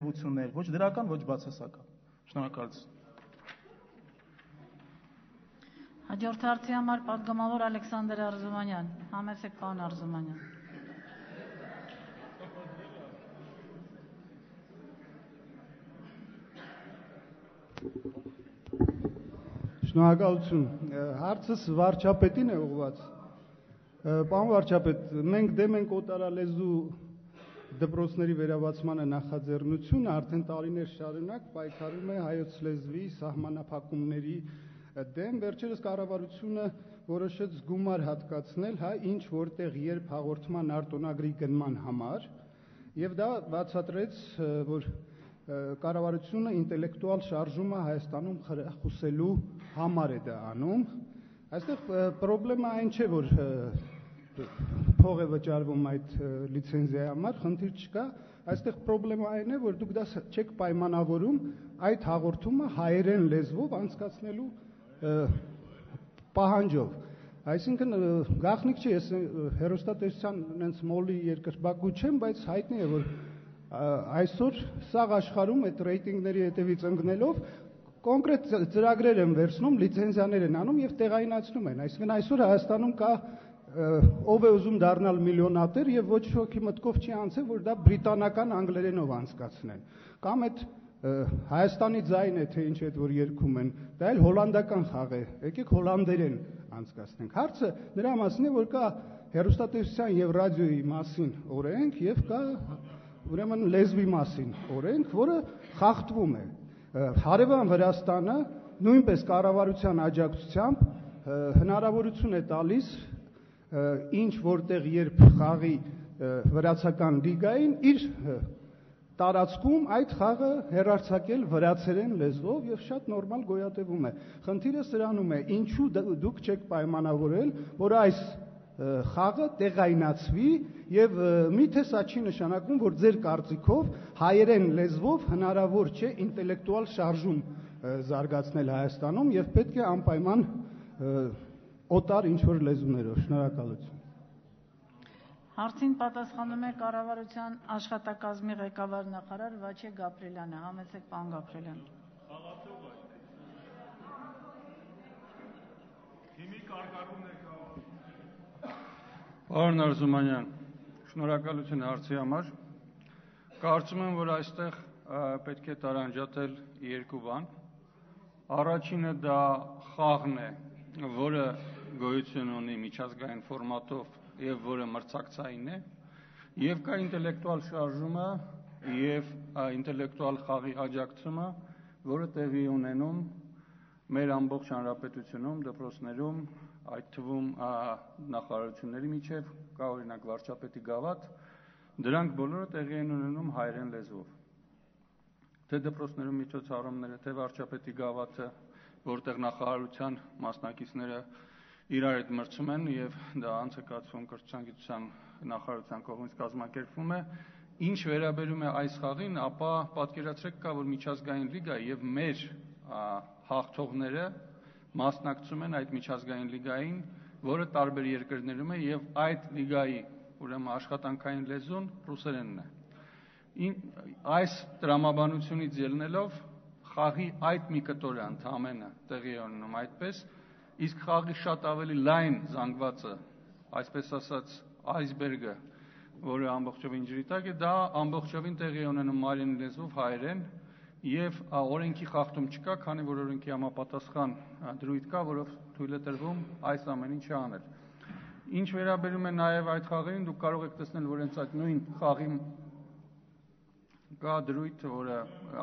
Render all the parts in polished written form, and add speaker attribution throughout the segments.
Speaker 1: ոչ դրական, ոչ բացասական։ Շնորհակալություն։
Speaker 2: Հաջորդ հարցի համար պատգամավոր Ալեքսանդր Արզումանյան, համեցեք պարոն Արզումանյան։
Speaker 3: Շնորհակալություն։ Հարցս վարչապետին է ուղղված։ Պարոն վարչապետ, մենք դեմ ենք օտարալեզու դպրոցների վերաբացմանը նախաձեռնությունը արդեն տարիներ շարունակ պայքարում է հայոց լեզվի սահմանափակումների դեմ, վերջերս կառավարությունը որոշեց գումար հատկացնել ինչ որտեղ երբ հաղորդման արտոնագրի գնման համար, եւ դա բացատրեց, որ կառավարությունը ինտելեկտուալ շարժումը Հայաստանում խրախուսելու համար է դա անում։ Այստեղ պրոբլեմը այն չէ, որ փող է վճարվում այդ լիցենզիայի համար, խնդիր չկա, այստեղ պրոբլեմը այն է, որ դուք դա չեք պայմանավորում այդ հաղորդումը հայերեն լեզվով անցկացնելու պահանջով։ Այսինքն գաղտնիք չէ, ես հեռուստատեսության նենց մոլի երկրպագու չեմ, բայց հայտնի է, որ այսօր սաղ աշխարհում այդ ռեյտինգների հետևից ընկնելով կոնկրետ ծրագրեր են վերցնում, լիցենզիաներ են անում եւ տեղայնացնում են։ Այսինքն այսօր Հայաստանում կա ով է ուզում դառնալ միլիոնատեր եւ ոչ ոքի մտքով չի անցել, որ դա բրիտանական անգլերենով անցկացնեն։ Կամ այդ Հայաստանի ձայն է, թե ինչ այդ որ երգում են, դա էլ հոլանդական խաղ է, եկեք հոլանդերեն անցկացնենք։ Հարցը նրա մասին է, որ կա հեռուստատեսության եւ ռադիոյի մասին օրենք եւ կա ուրեմն լեզվի մասին օրենք, որը խախտվում է։ Հարևան Վրաստանը նույնպես կառավարության աջակցությամբ հնարավորություն է տալիս ինչ որտեղ երբ խաղի վրացական լիգային իր տարածքում այդ խաղը հեռարձակել վրացերեն լեզվով եւ շատ նորմալ գոյատևում է։ Խնդիրը սրանում է, ինչու դուք չեք պայմանավորել, որ այս խաղը տեղայնացվի եւ միթե սա չի նշանակում, որ ձեր կարծիքով հայերեն լեզվով հնարավոր չէ ինտելեկտուալ շարժում զարգացնել Հայաստանում եւ պետք է անպայման օտար ինչ-որ լեզուներով։ Շնորհակալություն։
Speaker 2: Հարցին պատասխանում է կառավարության աշխատակազմի ղեկավար նախարար Վաչե Գաբրելյանը, համեցեք պարոն Գաբրելյան։
Speaker 4: Պարոն Արզումանյան, շնորհակալություն հարցի համար։ Կարծում եմ, որ այստեղ պետք է տարանջատել երկու բան։ Առաջինը դա խաղն է, որը գոյություն ունի միջազգային ֆորմատով եւ որը մրցակցային է, եւ կա ինտելեկտուալ շարժումը եւ ինտելեկտուալ խաղի աջակցումը, որը տեղի ունենում մեր ամբողջ հանրապետությունում, դպրոցներում, այդ թվում նախարարությունների միջև, կա օրինակ վարչապետի գավաթ, դրանք բոլորը տեղի են ունենում հայերեն լեզվով։ Թե դպրոցներում միջոցառումները, թե վարչապետի գավաթը, որտեղ նախարարության մասնակիցները իրար հետ մրցում են եւ դա անցկացվում կրթության գիտության նախարարության կողմից կազմակերպվում է, ինչ վերաբերում է այս խաղին, ապա պատկերացրեք կա, որ միջազգային լիգա եւ մեր հաղթողները մասնակցում են այդ միջազգային լիգային, որը տարբեր երկրներում է եւ այդ լիգայի ուրեմն աշխատանքային լեզուն ռուսերենն է։ Այս տրամաբանությունից ելնելով խաղի այդ մի կտորը ընդամենը տեղի ունենում այդպես, իսկ խաղի շատ ավելի լայն զանգվածը, այսպես ասած այսբերգը, որը ամբողջովին ջրի տակ է, դա ամբողջովին տեղի ունենում մարին լեզվով հայերեն եւ օրենքի խախտում չկա, քանի որ օրենքի համապատասխան դրույթ կա, որով թույլ է տրվում այս ամեն ինչը անել։ Ինչ վերաբերում է նաեւ այդ խաղերին, դուք կարող եք տեսնել, որ հենց այդ նույն խաղի կա դրույթ, որը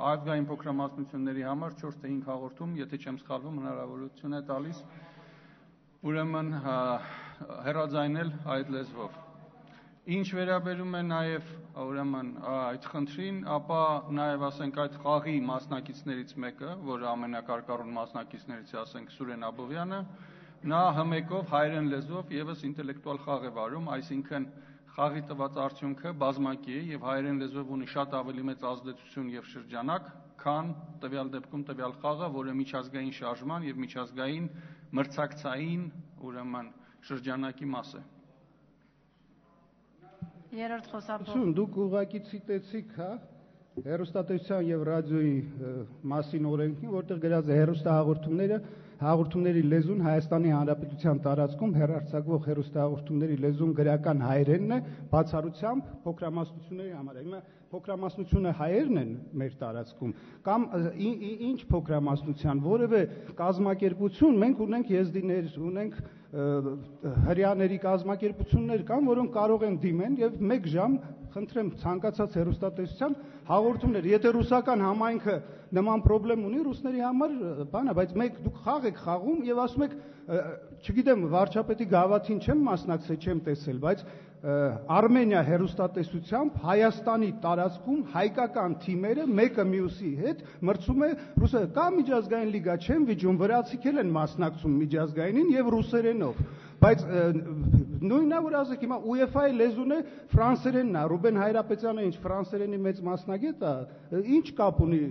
Speaker 4: ազգային փոքրամասնությունների համար 4 թե 5 հաղորդում, եթե չեմ սխալվում, հնարավորություն է տալիս ուրեմն հեռաձայնել այդ լեզվով։ Ինչ վերաբերում է նաև ուրեմն այդ խնդրին, ապա նաև ասենք այդ խաղի մասնակիցներից մեկը, որը ամենակարկառուն մասնակիցներից է, ասենք Սուրեն Աբովյանը, նա հմեկով հայերեն լեզվով եւս ինտելեկտուալ խաղ է վարում, այսինքն խաղի տված արդյունքը բազմակի է եւ հայերեն լեզվով ունի շատ ավելի մեծ ազդեցություն եւ շրջանակ, քան տվյալ դեպքում տվյալ խաղը, որը միջազգային շարժման եւ միջազգային մրցակցային ուրեմն շրջանակի մաս է։
Speaker 2: Երրորդ խոսափող։
Speaker 3: Դուք ուղղակի ցիտեցիք, հա, հեռուստատեսության եւ ռադիոյի մասին օրենքին, որտեղ գրած է հեռուստահաղորդումների լեզուն Հայաստանի Հանրապետության տարածքում հեռարձակվող հեռուստահաղորդումների լեզուն գրական հայերենն է, բացառությամբ փոքրամասնությունների համար։ Հիմա փոքրամասնությունը հայերն են մեր տարածքում կամ ինչ փոքրամասնության, որևէ կազմակերպություն, մենք ունենք եզդիներ, ունենք հրեաների կազմակերպություններ կան, որոնք կարող են դիմեն եւ 1 ժամ խնդրեմ ցանկացած հեռուստատեսության հաղորդումներ, եթե ռուսական համայնքը նման խնդրեմ ունի ռուսների համար, բանա, բայց դուք խաղ եք խաղում եւ ասում եք, չգիտեմ, վարչապետի գավաթին չեմ մասնակցել, չեմ տեսել, բայց Արմենիա հեռուստատեսությամբ Հայաստանի տարածքում հայկական թիմերը մեկը մյուսի հետ մրցում է ռուսերեն, կա միջազգային լիգա, չեմ վիճում, վրացիք են մասնակցում միջազգայինին եւ ռուսերենով, բայց նույնն է, որ ասեք հիմա UEFA-ի լեզուն է ֆրանսերենն է, Ռուբեն Հայրապետյանը ինչ ֆրանսերենի մեծ մասնագետ է, ինչ կապ ունի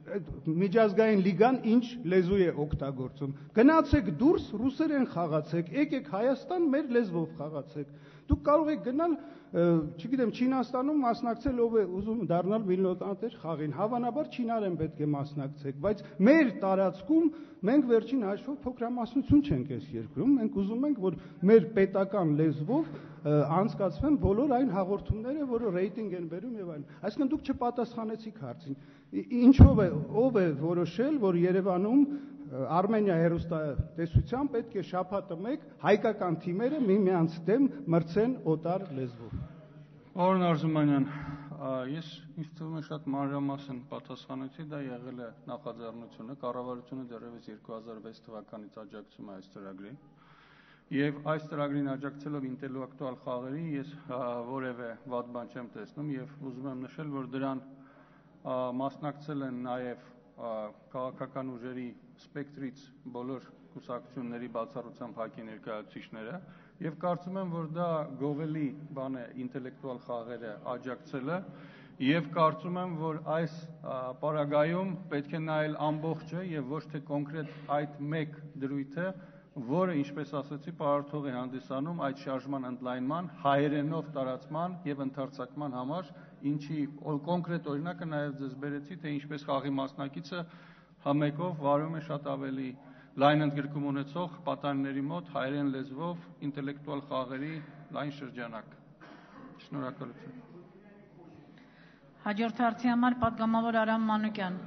Speaker 3: միջազգային լիգան ինչ լեզու է օգտագործում, գնացեք դուրս ռուսերեն խաղացեք, եկեք Հայաստան մեր լեզվով խաղացեք, դուք կարող եք գնալ, չգիտեմ, Չինաստանում մասնակցել, ով է ուզում դառնալ միլիոնատեր խաղին, հավանաբար չինարեն պետք է մասնակցեք, բայց մեր տարածքում մենք վերջին հաշվով փոքրամասնություն չենք այս երկրում, մենք ուզում ենք, որ մեր պետական լեզվով անցկացվեն բոլոր այն հաղորդումները, որը ռեյտինգ են բերում եւ այլն։ Այսինքն դուք չպատասխանեցիք հարցին։ Ինչով է, ով է որոշել, որ Երևանում Արմենիա հեռուստատեսության պետք է շաբաթը 1 հայկական թիմերը միմյանց դեմ մրցեն օտար լեզվով։
Speaker 4: Պարոն Արզումանյան, ես ինձ թվում է շատ մանրամասն պատասխանեցի, դա եղել է նախաձեռնությունը, կառավարությունը դեռևս 2006 թվականից աջակցում է այս ծրագրին։ Եվ այս ծրագրին աջակցելով ինտելեկտուալ խաղերին ես որևէ վատ բան չեմ տեսնում եւ ուզում եմ նշել, որ դրան մասնակցել են նաեւ քաղաքական ուժերի սպեկտրից բոլոր կուսակցությունների բացառությամբ ՀԱԿ-ի ներկայացուցիչները եւ կարծում եմ, որ դա գովելի բան է ինտելեկտուալ խաղերը աջակցելը եւ կարծում եմ, որ այս պարագայում պետք է նայել ամբողջը եւ ոչ թե կոնկրետ այդ մեկ դրույթը, որը, ինչպես ասացի, պարարթող է հանդիսանում այդ շարժման ընդլայնման, հայերենով տարածման եւ ընդարձակման համար, ինչի կոնկրետ օրինակը նաեւ ձեզ բերեցի, թե ինչպես խաղի մասնակիցը համեկով վարում է շատ ավելի լայն ընդգրկում ունեցող պատանիների մոտ հայերեն լեզվով ինտելեկտուալ խաղերի լայն շրջանակ։ Շնորհակալություն։
Speaker 2: Հաջորդ հարցի համար պատգամավոր Արամ Մանուկյան։